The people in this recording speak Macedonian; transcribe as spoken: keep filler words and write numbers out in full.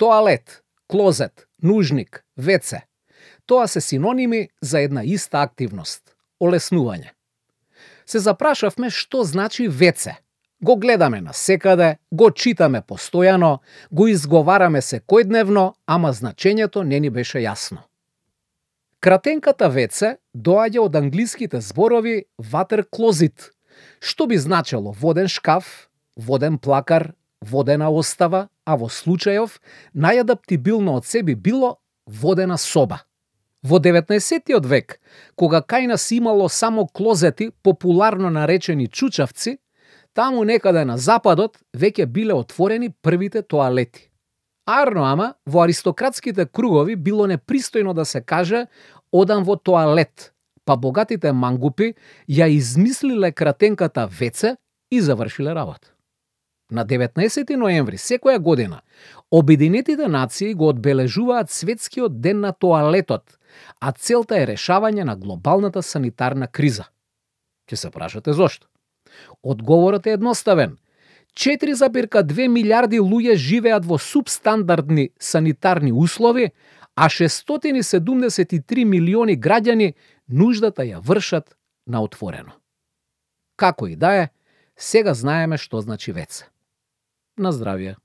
Тоалет, клозет, нужник, веце. Тоа се синоними за една иста активност – олеснување. Се запрашавме што значи веце. Го гледаме насекаде, го читаме постојано, го изговараме секојдневно, ама значењето не ни беше јасно. Кратенката веце доаѓа од англиските зборови water closet, што би значело воден шкаф, воден плакар, водена остава, а во случајов најадаптибилно од се би било водена соба. Во деветнаесеттиот век, кога кај нас имало само клозети, популарно наречени чучавци, таму некаде на западот веќе биле отворени првите тоалети. Арно ама, во аристократските кругови било непристојно да се каже одам во тоалет, па богатите мангупи ја измислиле кратенката веце и завршиле работа. На деветнаесети ноември секоја година Обединетите нации го одбележуваат светскиот ден на тоалетот, а целта е решавање на глобалната санитарна криза. Ќе се прашате зошто? Одговорот е едноставен. четири запирка две милиарди луѓе живеат во субстандардни санитарни услови, а шестстотини седумдесет и три милиони граѓани нуждата ја вршат на отворено. Како и да е, сега знаеме што значи веце. На здравје!